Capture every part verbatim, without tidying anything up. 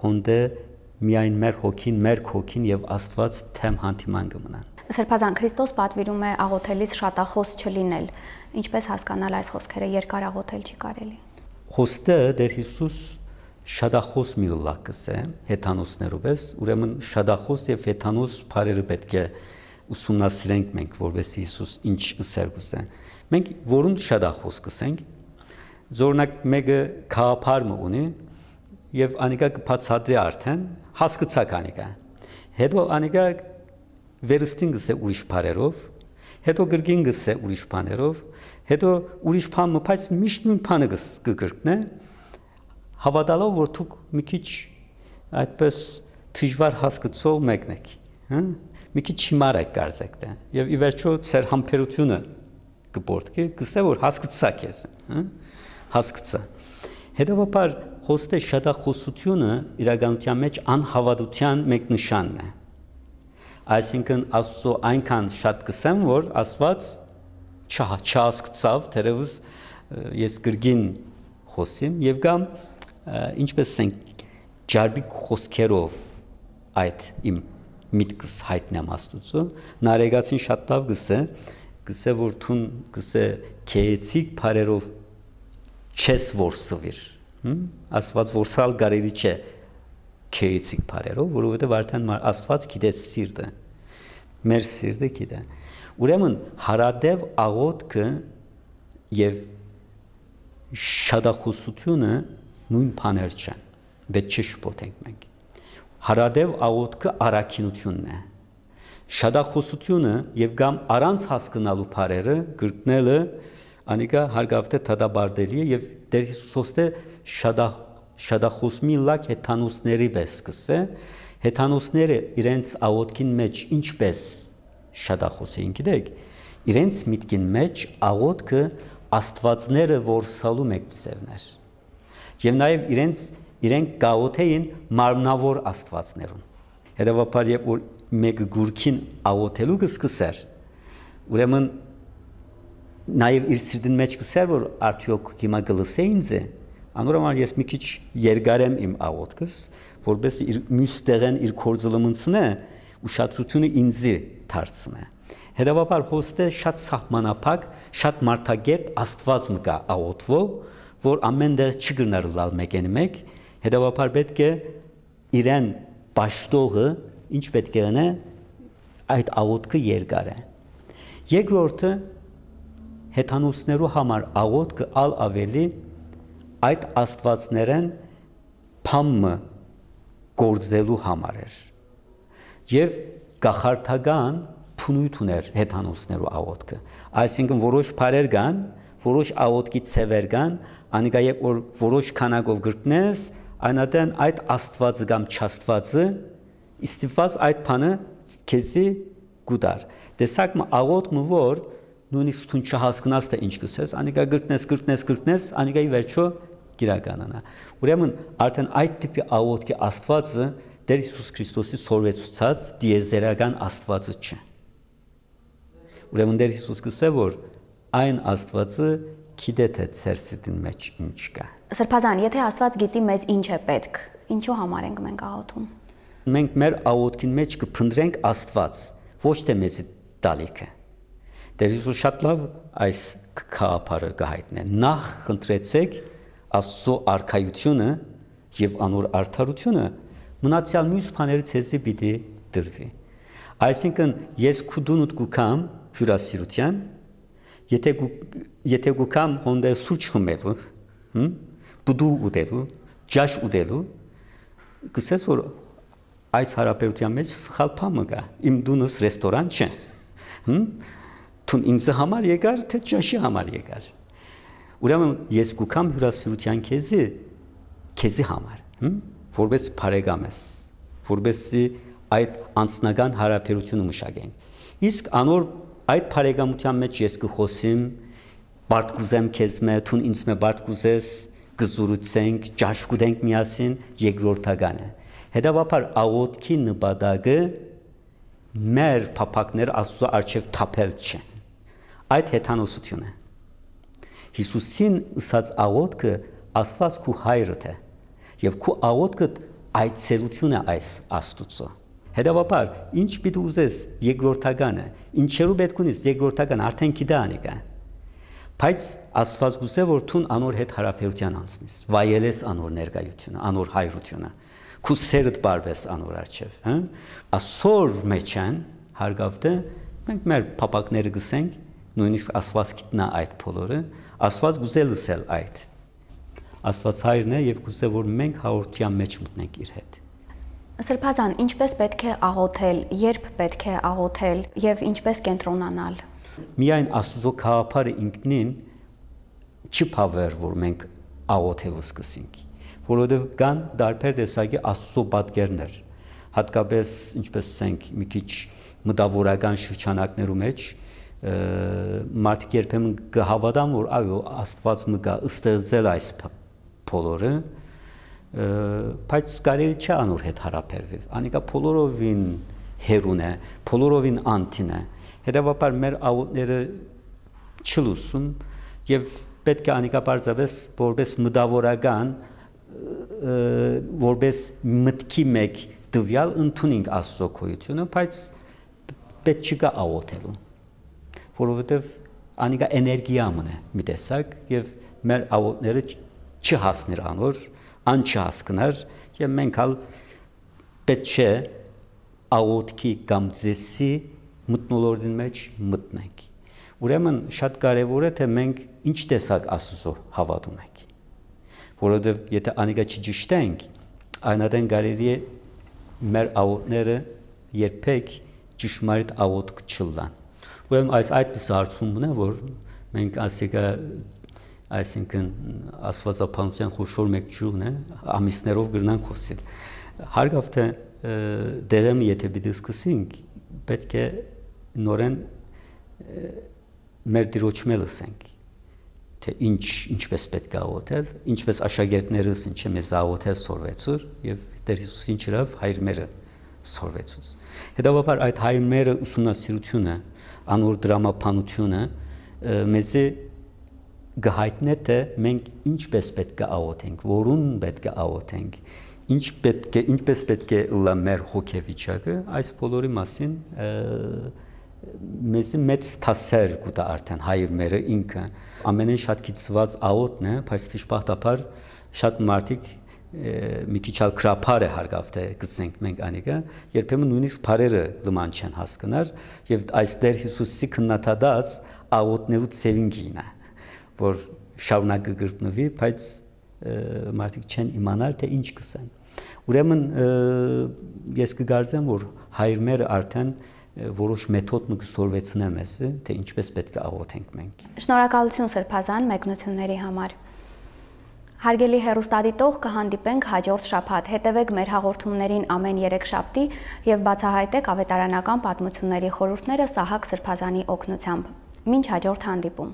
հոնդե միայն մեր հոգին, մեր հոգին եւ Աստված թեմ հանդիման կմնան։ Սրբազան Քրիստոս պատվիրում է աղոթելիս շատախոս չլինել։ Ինչպես հասկանալ այս խոսքերը, երկար աղոթել չի կարելի։ Խոստը Տեր Հիսուս շատախոս մի լակս է, հեթանոսներով է, ուրեմն շատախոս եւ հեթանոս բարերը պետք է ուսումնասիրենք մենք, որովհետեւ Հիսուս ինչ ըսեր գուզե։ Մենք որուն շատախոս կսենք, օրինակ մեկը քահապարը ունի եւ անիկա կբացատրի արդեն հասկացակ անիկա։ Հետո անիկա վերստին գսե ուրիշ բարերով, հետո գրգին գսե ուրիշ բաներով, հետո ուրիշ բան մփայց միշտ նույն բանը կգրկնե, հավատալով որ դուք մի քիչ այդպես դժվար հասկացող մեկն եք, հա՞, մի քիչ հիմար եք կարծեք դա, եւ ի վերջո ծեր համբերությունը կբորդկի, գսե որ հասկացակ ես, հա՞, հասկացա։ Հետևաբար հոստե շատախոսությունը իրականության մեջ անհավատության մեկ նշանն է։ Այսինքն Աստծո այնքան շատ կսեմ, որ Աստված չհասկացավ, թերևս ես գրգին խոսիմ եւ կամ ինչպես ենք ջարբիկ խոսքերով այդ իմ միտքս հայտնեմ Աստծո, նարեգացին շատ լավ գսե, գսե որ թուն գսե քեեցիկ բարերով չես որսվիր, Աստված որսալ գարելի չէ քեեցիկ բարերով, որովհետեւ արդեն Աստված գիտե սիրտը, մեր սիրտը գիտե։ Ուրեմն հարադև աղոթքը եւ շատախոսությունը նույն բաներ չեն, պետք չէ շփոթենք մենք։ Հարադև աղոթքը առաքինությունն է։ Շատախոսությունը եւ կամ առանց հասկանալու բարերը գրկնելը անիկա հարգավտե թադաբարդելի է եւ Տեր Հիսուսոստե շատախ շատախոսմի լակ հեթանոսների պես կսե, հեթանոսները իրենց աղոթքին մեջ ինչպես շատախոս էին գիտեք, իրենց միտքին մեջ աղոթքը աստվածները որսալու մեկ ծևներ։ Եվ նաև իրենց իրենք գաղոթեին մարմնավոր աստվածներուն։ Հետևաբար երբ որ մեկը գուրքին աղոթելու կսկսեր, ուրեմն նաև իր սիրտին մեջ կսեր, որ արդյոք հիմա գլսե ինձ է, անորոման ես մի քիչ երգարեմ իմ աղոթքս, որպես իր մյուս տեղեն իր կորձլմնցնե, ուշադրությունը ինձի դարձնե։ Հետևաբար հոստե շատ սահմանափակ, շատ մարդագետ Աստված մկա աղոթվող, որ ամեն դեր չգրներ լալ մեկեն մեկ, հետևաբար պետք է իրեն պաշտողը ինչ պետք է անե այդ աղոթքը երգարե։ Երկրորդը հեթանոսներու համար աղոթքը ալ ավելի այդ աստվածներեն փամը գործելու համար էր եւ գախարթական փնույթ ուներ հեթանոսներու աղոթքը այսինքն որոշ բարեր կան որոշ աղոթքի ցևեր կան անիկա երբ որ որոշ քանակով գրտնես այնատեն այդ աստվածը կամ չաստվածը իստիված այդ բանը քեզի գուդար տեսակ մը աղոթքը որ նույնիսկ դու չհասկանաս թե ինչ կսես անիկա գրտնես գրտնես գրտնես անիկայի վերջո գիրականանա ուրեմն արդեն այդ տիպի աղոթքի աստվածը Տեր Հիսուս Քրիստոսի սորվեցուցած դիեզերական աստվածը չէ ուրեմն Տեր Հիսուս կսե որ այն աստվածը գիտե թե ծեր սիրտին մեջ ինչ կա Սրբազան եթե Աստված գիտի մեզ ինչ է պետք ինչու համար ենք մենք աղոթում մենք մեր աղոթքին մեջ կփնտրենք Աստված ոչ թե մեզի տալիքը Տեր Հիսուս շատ լավ այս քահապարը կհայտնե նախ խնդրեցեք Աստծո արքայությունը եւ անոր արդարությունը մնացյալ մյուս բաներից ցեզի պիտի դրվի այսինքն ես քուդունուտ գուքամ հյուրասիրության եթե եթե գուքամ հոնդե սուրճ խմելու հմ բուդու ուտելու ջաշ ուտելու գսես որ այս հարաբերության մեջ սխալ բան կա իմ դունս ռեստորան չէ հմ Թուն ինձ համար եկար, թե ճաշի համար եկար։ Ուրեմն ես գուքամ հյուրասիրության քեզի, քեզի համար, որպես բարեկամ ես, որպեսզի այդ անձնական հարաբերությունը մշակենք։ Իսկ անոր այդ բարեկամության մեջ ես կխոսիմ, բարդկուզեմ քեզ մե, թուն ինձ մե բարդկուզես, կզուրուցենք, ճաշ կուտենք միասին, երկրորդական է։ Հետևաբար աղոթքի նպատակը մեր փափակներ Աստծո առջև թափել չէ։ Այդ հեթանոսություն է։ Հիսուսին ըսած աղոթքը Աստված քու հայրդ է, եւ քու աղոթքը այցելությունը այս Աստուծո։ Հետևաբար, ինչ պիտի ուզես երկրորդականը, ինչերու պետք ունես երկրորդական արդեն գիտա անիկա։ Բայց Աստված գուցե որ թուն անոր հետ հարաբերության անցնես, վայելես անոր ներկայությունը, անոր հայրությունը, քու սերդ բարբես անոր արչև, հա։ Ասոր մեջ են հարգավտը մենք մեր փապակները գսենք, նույնիսկ Աստված գիտնա այդ բոլորը, Աստված գուցե լսել այդ։ Աստված հայրն է եւ գուցե որ մենք հաղորդության մեջ մտնենք իր հետ։ Սրբազան, ինչպես պետք է աղոթել, երբ պետք է աղոթել եւ ինչպես կենտրոնանալ։ Միայն Աստծո քաղաքարը ինքնին չփավեր, որ մենք աղոթելու սկսենք, որովհետեւ կան դարբեր տեսակի Աստծո պատկերներ, հատկապես ինչպես ասենք մի քիչ մտավորական շրջանակներու մեջ մարդիկ երբեմն կհավատան, որ այո Աստված մգա ստեղծել այս բոլորը, բայց կարելի չէ անոր հետ հարաբերվել։ Անիկա բոլորովին հերուն է, բոլորովին անտին է։ Հետևաբար մեր աղոթները չլուսում եւ պետք է անիկա բարձրապես որպես մտավորական, որպես մտքի մեկ դվյալ ընդունենք Աստծո գոյությունը, բայց պետք չկա աղոթելու, որովհետեւ անիկա էներգիա մնա մի տեսակ եւ մեր աղոթները չհասներ անոր, ան չհասկներ եւ մենք հալ պետք չէ աղոթքի կամ ձեսի մտնոլորտին մեջ մտնենք։ Ուրեմն շատ կարևոր է թե մենք ինչ տեսակ Աստծո հավատում ենք, որովհետեւ եթե անիկա չճշտենք, այնադեն կարելի է մեր աղոթները երբեք ճշմարիտ աղոթք չլան։ Ուրեմն այս այդպես հարցումն է, որ մենք ասիկա այսինքն աստվածապանության խոշոր մեկ ճյուղն է, ամիսներով գրնան խոսել։ Հարգավ թե դերեմ եթե պիտի սկսենք, պետք է նորեն մեր դիրոճը լսենք, թե ինչ ինչպես պետք է աղոթել, ինչպես աշակերտներս ինչ է մեզ աղոթել սորվեցուր եւ Տեր Հիսուսին ճրավ հայրմերը սորվեցուց։ Հետևաբար այդ հայրմերը ուսումնասիրությունը, անոր դրամապանությունը մեզ գահիտնե թե մենք ինչպես պետք է աղոթենք, որուն պետք է աղոթենք, ինչ պետք է ինչպես պետք է լա մեր հոգեվիճակը, այս բոլորի մասին մեզ մեծ թասեր կուտա արդեն հայրմերը ինքը ամենեն շատ կիցված աղոթն է, բայց դժբախտաբար շատ մարդիկ մի քիչ ալ քրափար է հարգավ թե գսենք մենք անիկա, երբեմն նույնիսկ բարերը լման չեն հասկանար եւ այս Տեր Հիսուսի քննադատած աղոթներու ծևինքին է, որ շարունակը գրտնվի, բայց մարդիկ չեն իմանալ թե ինչ կսեն։ Ուրեմն ես կգարձեմ, որ հայրմերը արդեն որոշ մեթոդ մգսորվեցնեմ ես, թե ինչպես պետք է աղոթենք մենք։ Շնորհակալություն Սրբազան մեկնությունների համար։ Հարգելի հեռուստադիտող, կհանդիպենք հաջորդ շաբաթ։ Հետևեք մեր հաղորդումներին ամեն երեքշաբթի եւ բացահայտեք ավետարանական պատմությունների խորհուրդները Սահակ Սրբազանի օգնությամբ։ Մինչ հաջորդ հանդիպում։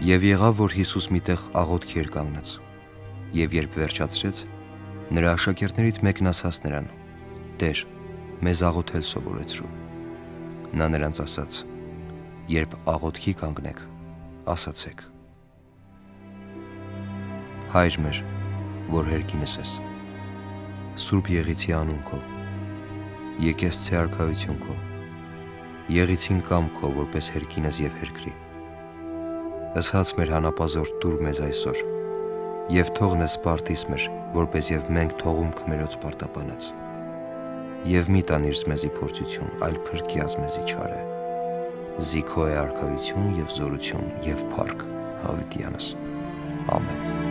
Եվ եղավ, որ Հիսուս միտեղ աղոթքի էր կանգնած, եւ երբ վերջացրեց, նրա աշակերտներից մեկն ասաց նրան. «Տեր, մեզ աղոթել սովորեցրու»։ Նա նրանց ասաց. «Երբ աղոթքի կանգնեք, ասացեք. Հայր մեր, որ հերկինս ես, Սուրբ եղիցի անուն քո, եկեղեցի արքայություն քո, եղիցին կամ քո, որպես հերկինս եւ հերկրի։ Ըսած մեր հանապազորդ դուր մեզ այսօր, եւ թողնես սպարտիս մեր, որպես եւ մենք թողում քմերոց պարտապանած։ Եվ մի տանիր մեզի փորձություն, այլ փրկի մեզի չարը։ Զիքո է արքայություն եւ զորություն եւ փառք հավիտյանս։ Ամեն։